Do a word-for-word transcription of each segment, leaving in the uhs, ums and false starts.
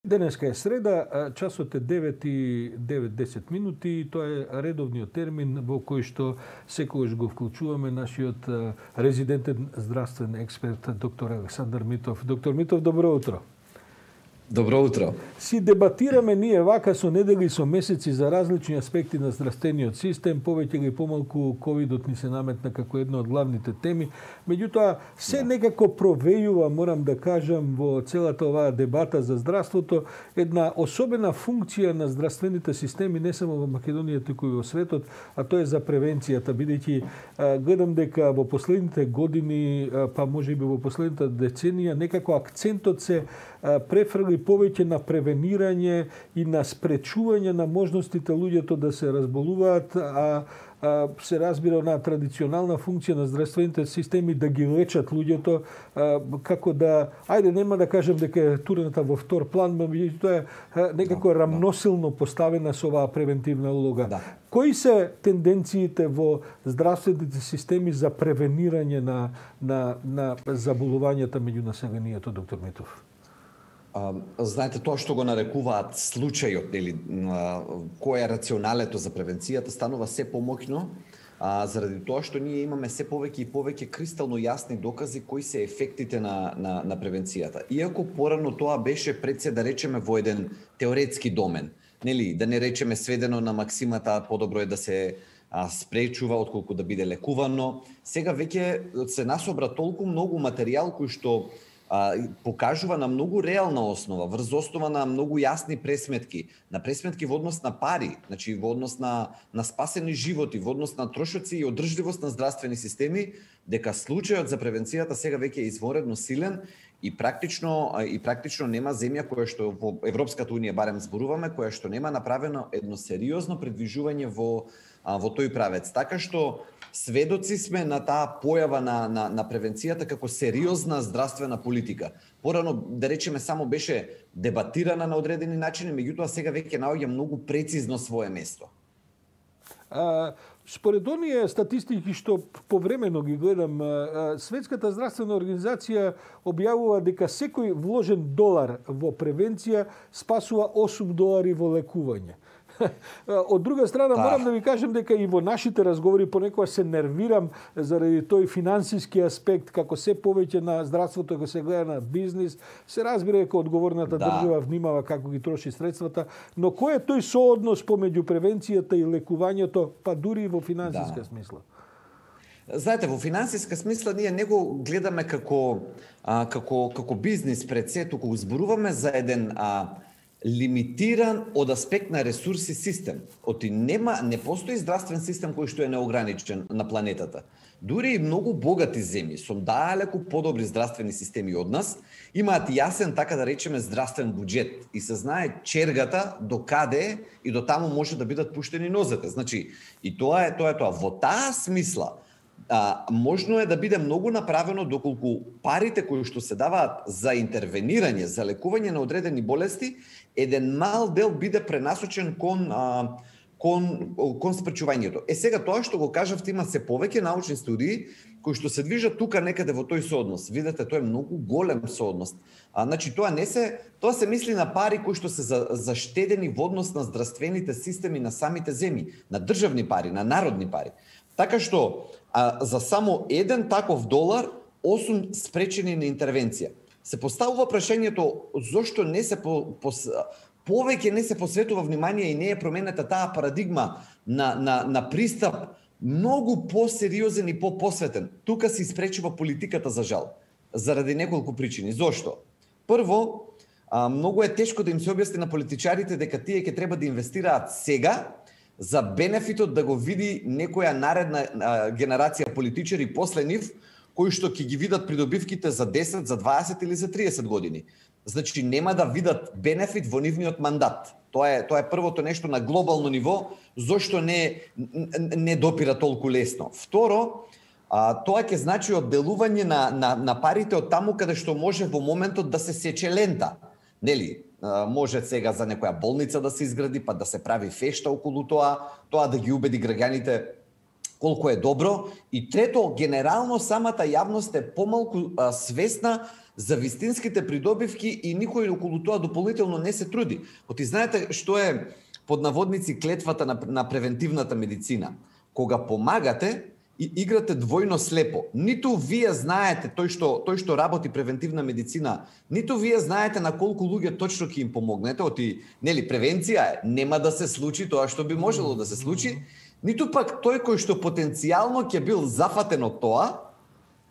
Денеска е среда, часот е девет и десет минути и тоа е редовниот термин во кој што секогаш го вклучуваме нашиот резидентен здравствен експерт доктор Александар Митов. Доктор Митов, добро утро. Добро утро. Си дебатираме ние вака со недели и со месеци за различни аспекти на здравствениот систем, повеќе или помалку ковидот ни се наметна како една од главните теми. Меѓутоа, се да. некако провејува, морам да кажам, во целата оваа дебата за здравството, една особена функција на здравствените системи не само во Македонија, туку и во светот, а тоа е за превенцијата, бидејќи гледам дека во последните години, па можеби во последната деценија, некако акцентот се префрли повеќе на превенирање и на спречување на можностите луѓето да се разболуваат, а, а се разбира на традиционална функција на здравствените системи да ги лечат луѓето, а, како да, ајде нема да кажем дека е турената во втор план, меѓутоа тоа е некако да, рамносилно поставена со оваа превентивна улога. Да. Кои се тенденциите во здравствените системи за превенирање на, на, на заболувањата меѓу населението, доктор Митов? Uh, знаете, тоа што го нарекуваат случајот, или кој е рационалето за превенцијата, станува се помоќно, uh, заради тоа што ние имаме се повеќе и повеќе кристално јасни докази кои се ефектите на, на, на превенцијата. Иако порано тоа беше пред се, да речеме, во еден теоретски домен, нели, да не речеме сведено на максимата подобро е да се а, спречува отколку да биде лекувано. Сега веќе се насобра толку многу материјал кој што А, покажува на многу реална основа, врз основа на многу јасни пресметки, на пресметки во однос на пари, значи во однос на, на спасени животи, во однос на трошоци и одржливост на здравствени системи, дека случајот за превенцијата сега веќе е изворедно силен и практично и практично нема земја која што во Европската унија барем зборуваме, која што нема направено едно сериозно предвижување во во тој правец. Така што сведоци сме на таа појава на, на, на превенцијата како сериозна здравствена политика. Порано, да речеме, само беше дебатирана на одредени начини, меѓутоа сега веќе наоѓа многу прецизно свое место. А, според оние статистики што повремено ги гледам, Светската здравствена организација објавува дека секој вложен долар во превенција спасува осум долари во лекување. Од друга страна, да. морам да ви кажем дека и во нашите разговори понекогаш се нервирам заради тој финансиски аспект, како се повеќе на здравството го се гледа на бизнис, се разбира дека одговорната да. држава внимава како ги троши средствата, но кој е тој сооднос помеѓу превенцијата и лекувањето, па дури и во финансиска да. смисла? Знаете, во финансиска смисла ние не го гледаме како а, како како бизнис пред се, туку зборуваме за еден а, лимитиран од аспект на ресурси систем. Оти нема, не постои здравствен систем кој што е неограничен на планетата. Дури и многу богати земји со далеку подобри здравствени системи од нас имаат јасен, така да речеме, здравствен буџет и се знае чергата до каде и до таму може да бидат пуштени нозете. Значи, и тоа е тоа е тоа. Во таа смисла А, можно е да биде многу направено доколку парите кои што се даваат за интервенирање, за лекување на одредени болести, еден мал дел биде пренасочен кон, а, кон, кон спречувањето. Е сега тоа што го кажавте, има се повеќе научни студии кои што се движат тука некаде во тој сооднос. Видете, тоа е многу голем сооднос. А, значи тоа не се, тоа се мисли на пари кои што се за, заштедени во однос на здравствените системи на самите земји, на државни пари, на народни пари. Така што а, за само еден таков долар, осум спречени на интервенција. Се поставува прашањето зошто не се по, по, повеќе не се посветува внимание и не е променета таа парадигма на, на, на пристап многу посериозен и по-посветен. Тука се испречува политиката, за жал, заради неколку причини. Зошто? Прво, а, многу е тешко да им се објасни на политичарите дека тие ќе треба да инвестираат сега за бенефитот да го види некоја наредна а, генерација политичари после нив, кои што ќе ги видат придобивките за десет, за дваесет или за триесет години. Значи нема да видат бенефит во нивниот мандат. Тоа е тоа е првото нешто на глобално ниво, зошто не не допира толку лесно. Второ, а, тоа ќе значи одделување на, на на парите од таму каде што може во моментот да се сече лента. Нели? Може сега за некоја болница да се изгради, па да се прави фешта околу тоа, тоа да ги убеди граѓаните колку е добро, и трето, генерално самата јавност е помалку а, свесна за вистинските придобивки и никој околу тоа дополнително не се труди. Оти знаете што е под наводници клетвата на, на превентивната медицина? Кога помагате и играте двојно слепо. Ниту вие знаете тој што тој што работи превентивна медицина, ниту вие знаете на колку луѓе точно ќе им помогнете. Оти, нели, превенција е, нема да се случи тоа што би можело да се случи, ниту пак тој кој што потенцијално ќе бил зафатен од тоа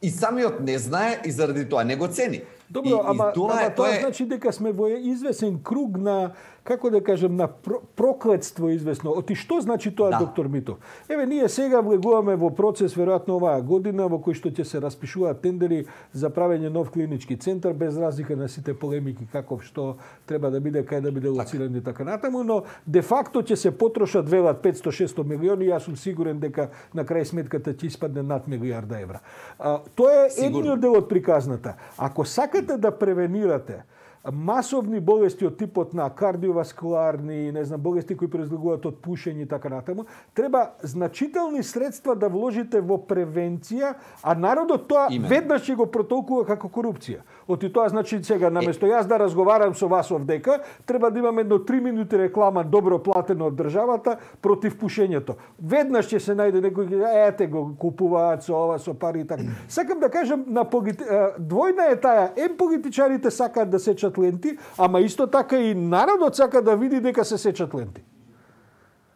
и самиот не знае и заради тоа не го цени. Добро, и, ама, и тоа, ама е, тоа тоа е... значи дека сме во извесен круг на, како да кажем, на проклетство известно. Оти што значи тоа, да. Доктор Митов? Еве, ние сега влегуваме во процес, веројатно оваа година, во кој што ќе се распишуваат тендери за правење нов клинички центар, без разлика на сите полемики каков што треба да биде, кај да биде лоциран и така натаму, но де факто ќе се потрошат велат петсто шест милиони, јас сум сигурен дека на крај сметката ќе испадне над милијарда евра. А, тоа е едниот дел од приказната. Ако сакате да превенирате масовни болести од типот на кардиоваскуларни, не знам, болести кои произлегуваат од пушење и така натаму, треба значителни средства да вложите во превенција, а народот тоа Имен. веднаш ќе го протолкува како корупција. Оти тоа значи сега наместо јас да разговарам со вас овдека, треба да имам едно три минути реклама добро платено од државата против пушењето. Веднаш ќе се најде некој, ете го купуваат со ова, со пари и така. Сакам да кажам, на полити... двојна е таа, ем политичарите сакаат да сечат ленти, ама исто така и народот сака да види дека се сечат ленти.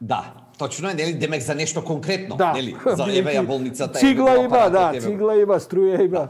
Да, точно е, нели, демек за нешто конкретно, да. нели, за еве ја болницата, цигла има, да, цигла има, струја има. Да.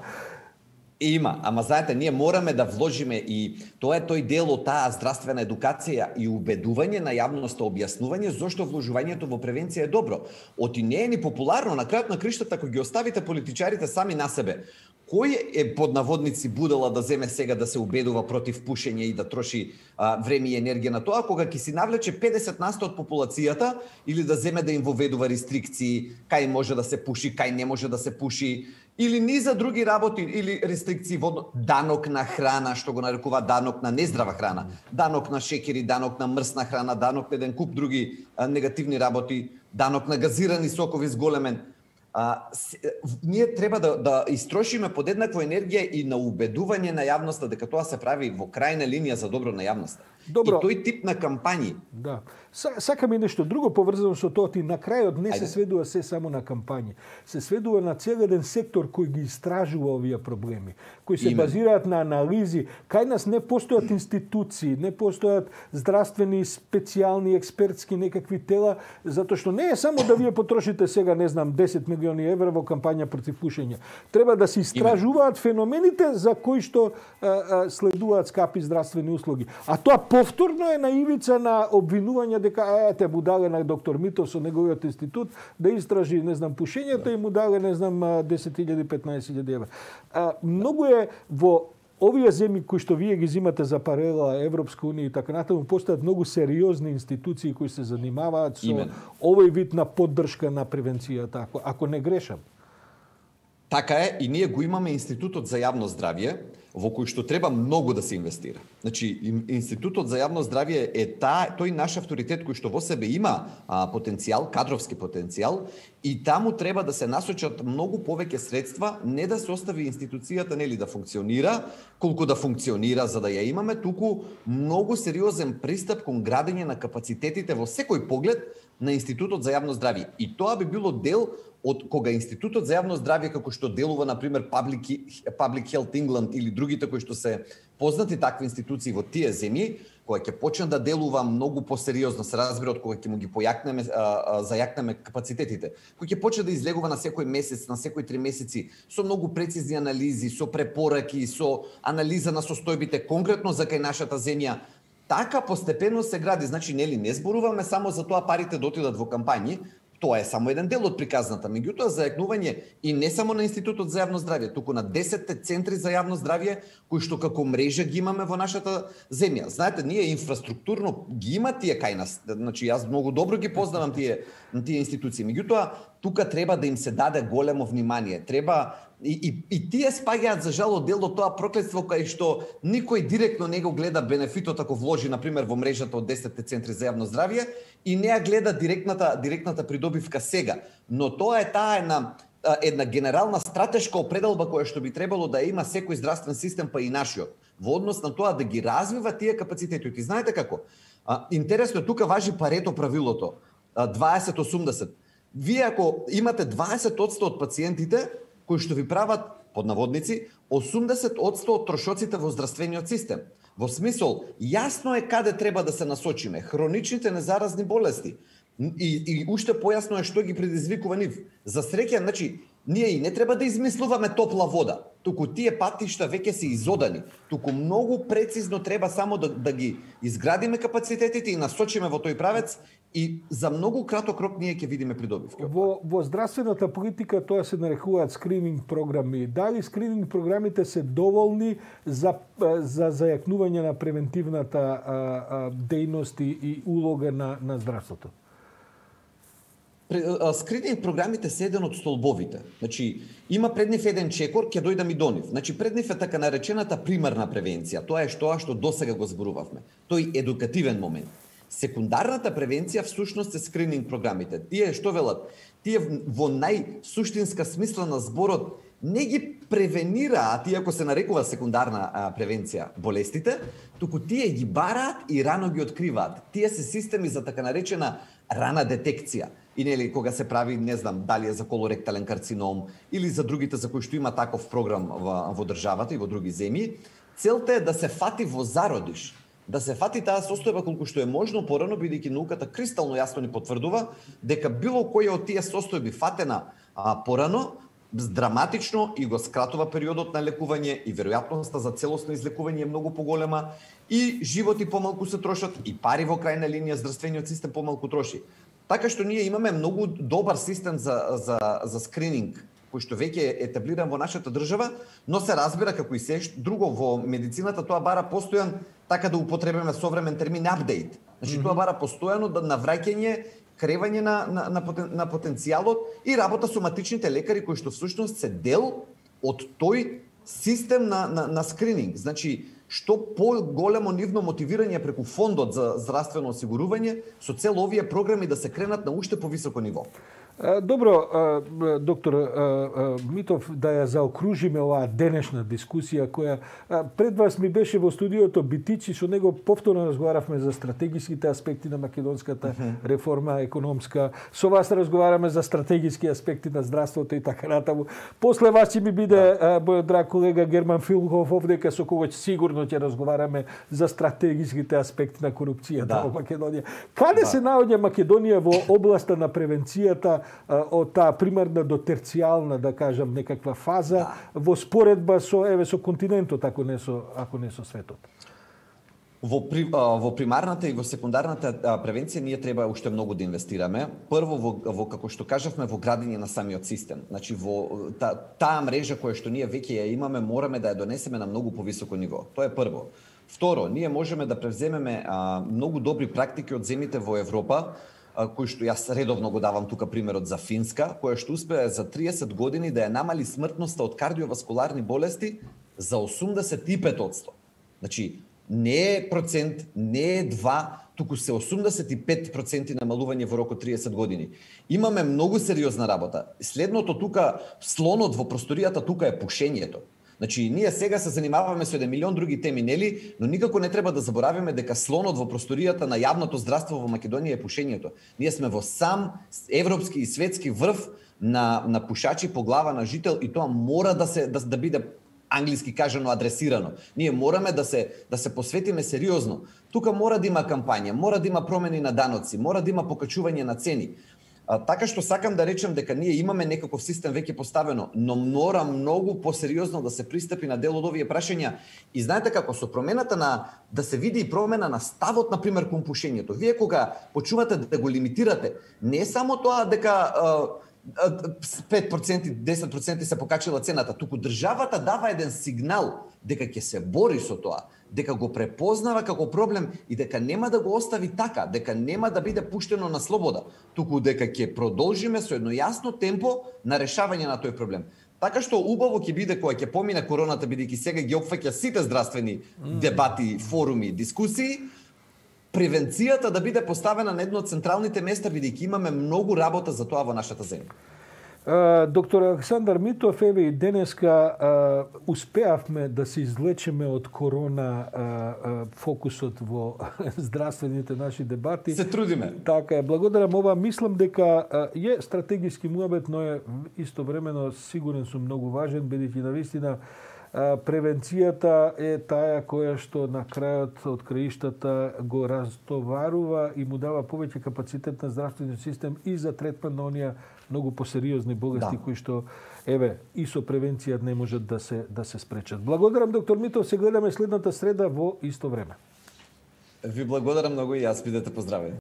Има, ама знаете, ние мораме да вложиме и тоа е тој дел од таа здравствена едукација и убедување на јавноста, објаснување зошто вложувањето во превенција е добро. Оти не е ни популарно, на крајот на криштата, кога ги оставите политичарите сами на себе, кој е под наводници будала да земе сега да се убедува против пушење и да троши а, време и енергија на тоа, кога ќе си навлече педесет на сто од популацијата или да земе да им воведува рестрикции, кај може да се пуши, кај не може да се пуши, или низа други работи, или рестрикции во данок на храна, што го нарекува данок на нездрава храна, данок на шекери, данок на мрсна храна, данок на еден куп други а, негативни работи, данок на газирани сокови зголемен. А, с, ние треба да, да истрошиме подеднаква енергија и на убедување на јавноста дека тоа се прави во крајна линија за добро на јавноста. Добро. И тој тип на кампањи. Да. Сакам и нешто друго поврзано со тоа, ти на крајот не Ајде. се сведува се само на кампањи. Се сведува на цел еден сектор кој ги истражува овие проблеми, кои се Имен. базираат на анализи. Кај нас не постојат институции, не постојат здравствени, специјални, експертски некакви тела, затоа што не е само да вие потрошите сега, не знам, десет милиони евра во кампања против пушење. Треба да се истражуваат Имен. феномените за кои што а, а, следуваат скапи здравствени услуги. А тоа повторно е на ивица на обвинување дека ете му дале на доктор Митов со неговиот институт да истражи, не знам, пушењето да. и му дале, не знам, десет илјади, петнаесет илјади евра. А, многу е во овие земји кои што вие ги зимате за паралела Европска унија и така натаму, постојат многу сериозни институции кои се занимаваат со Имен. овој вид на поддршка на превенцијата, ако, ако не грешам. Така е, и ние го имаме Институтот за јавно здравје, во кој што треба многу да се инвестира. Значи, Институтот за јавно здравје е та, тој наш авторитет кој што во себе има а, потенцијал, кадровски потенцијал, и таму треба да се насочат многу повеќе средства, не да се остави институцијата нели да функционира, колку да функционира за да ја имаме, туку многу сериозен пристап кон градење на капацитетите во секој поглед на Институтот за јавно здравје. И тоа би било дел од кога Институтот за јавно здравје, како што делува, например, Public, Public Health England или другите кои што се познати такви институции во тие земји, кога ќе почне да делува многу посериозно, се разбира од кога ќе му ги појакнеме, а, а, зајакнеме капацитетите, кој ќе почне да излегува на секој месец, на секој три месеци, со многу прецизни анализи, со препораки, со анализа на состојбите конкретно за кај нашата земја. Така постепено се гради, значи нели не зборуваме само за тоа парите да отидат во кампањи, тоа е само еден дел од приказната. Меѓутоа, зајакнување и не само на Институтот за јавно здравје, туку на десетте центри за јавно здравје, кои што како мрежа ги имаме во нашата земја. Знаете, ние инфраструктурно ги има тие кај нас. Значи, јас многу добро ги познавам тие, тие институции. Меѓутоа, тука треба да им се даде големо внимание. Треба И, и, и тие спаѓаат за жал дел од тоа проклетство кај што никој директно не го гледа бенефитот ако вложи на пример во мрежата од десетте центри за јавно здравје и не ја гледа директната директната придобивка сега. Но тоа е таа една една генерална стратешка определба која што би требало да има секој здравствен систем, па и нашиот, во однос на тоа да ги развива тие капацитети. И знаете како? А, интересно, тука важи Парето правилото, дваесет осумдесет. Вие ако имате дваесет одсто од пациентите кои што ви прават, под наводници, осумдесет одсто од трошоците во здравствениот систем. Во смисол, јасно е каде треба да се насочиме. Хроничните незаразни болести. И, и уште појасно е што ги предизвикува нив. За среќа, значи, ние и не треба да измислуваме топла вода. Туку тие патишта веќе се изодани. Туку многу прецизно треба само да, да ги изградиме капацитетите и насочиме во тој правец и за многу краток рок ние ќе видиме придобивка. Во, во здравствената политика тоа се нарекуваат скрининг програми. Дали скрининг програмите се доволни за, за зајакнување на превентивната а, а, дејност и улога на, на здравството? Скрининг програмите се еден од столбовите. Значи, има пред нив еден чекор, ќе дојдам и до нив. Значи, пред нив е така наречената примарна превенција. Тоа е што што досега го зборувавме. Тој едукативен момент. Секундарната превенција всушност е скрининг програмите. Тие што велат? Тие во најсуштинска смисла на зборот не ги превенираат, иако се нарекува секундарна а, превенција, болестите, туку тие ги бараат и рано ги откриваат. Тие се системи за така наречена рана детекција. И нели кога се прави, не знам, дали е за колоректален карцином или за другите за кои што има таков програм во, во државата и во други земји, целта е да се фати во зародиш, да се фати таа состојба колку што е можно порано, бидејќи науката кристално јасно ни потврдува дека било која од тие состојби фатена а, порано, драматично и го скратува периодот на лекување и веројатноста за целосно излекување е многу поголема и животи помалку се трошат и пари во крајна линија здравствениот систем помалку троши. Така што ние имаме многу добар систем за, за, за скрининг, кој што веќе е етаблиран во нашата држава, но се разбира како и се друго во медицината, тоа бара постојан, така да употребиме современ термин, апдейт. Значи, mm-hmm. тоа бара постојано да навраќање, кревање на, на, на, потен, на потенцијалот и работа со матичните лекари, кои што всушност се дел од тој систем на, на, на скрининг. Значи, што по-големо нивно мотивирање преку фондот за здравствено осигурување со цел овие програми да се кренат на уште повисоко ниво. Добро, доктор Митов, да ја заокружиме оваа денешна дискусија која пред вас ми беше во студиото Битичи, со него повторно разговаравме за стратегиските аспекти на македонската реформа економска. Со вас разговараме за стратегиски аспекти на здравството и така натаму. После вас ќе ми биде мојот драг колега Герман Филхов овдека, со кого сигурно ќе разговараме за стратегиските аспекти на корупцијата да. во Македонија. Каде да. се наоѓа Македонија во областа на превенцијата од таа примарна до терцијална, да кажам, некаква фаза да. во споредба со еве со континентот, ако не со ако не со светот? Во, при, во примарната и во секундарната превенција ние треба уште многу да инвестираме. Прво во, во како што кажавме во градење на самиот систем. Значи во та, таа мрежа која што ние веќе ја имаме, мораме да ја донесеме на многу повисоко ниво. Тоа е прво. Второ, ние можеме да превземеме а, многу добри практики од земјите во Европа, кој што јас редовно го давам тука примерот за Финска, која што успеа за триесет години да ја намали смртноста од кардиоваскуларни болести за осумдесет и пет одсто. Значи, не е процент, не е два, туку се осумдесет и пет проценти намалување во рок од триесет години. Имаме многу сериозна работа. Следното тука, слонот во просторијата тука е пушењето. Значи, ние сега се занимаваме со еден милион други теми, нели, но никако не треба да заборавиме дека слонот во просторијата на јавното здравство во Македонија е пушењето. Ние сме во сам европски и светски врв на, на пушачи по глава на жител и тоа мора да се да, да биде англиски кажано адресирано. Ние мораме да се да се посветиме сериозно. Тука мора да има кампања, мора да има промени на даноци, мора да има покачување на цени. А, така што сакам да речем дека ние имаме некаков систем веќе поставено, но мора многу посериозно да се пристапи на дел од овие прашања. И знаете како, со промената на да се види и промена на ставот, на пример, кон пушењето. Вие кога почувате да го лимитирате, не е само тоа дека пет проценти, десет проценти се покачила цената, туку државата дава еден сигнал дека ќе се бори со тоа, дека го препознава како проблем и дека нема да го остави така, дека нема да биде пуштено на слобода, туку дека ќе продолжиме со едно јасно темпо на решавање на тој проблем. Така што убаво ќе биде кога ќе помине короната, бидејќи сега ги опфаќа сите здравствени дебати, форуми, дискусии, превенцијата да биде поставена на едно од централните места, бидејќи имаме многу работа за тоа во нашата земја. Доктор Александар Митов, еве и денеска успеавме да се излечеме од корона фокусот во здравствените наши дебати. Се трудиме. Така е, благодарам. Ова мислам дека е стратегиски муабет, но е истовремено сигурен сум многу важен, бидејќи навистина превенцијата е таа која што на крајот од краиштата го растоварува и му дава повеќе капацитет на здравствениот систем и за третман на оние многу посериозни болести да. Кои што еве и со превенција не можат да се да се спречат. Благодарам доктор Митов, се гледаме следната среда во исто време. Ви благодарам многу и јас, бидете поздравени.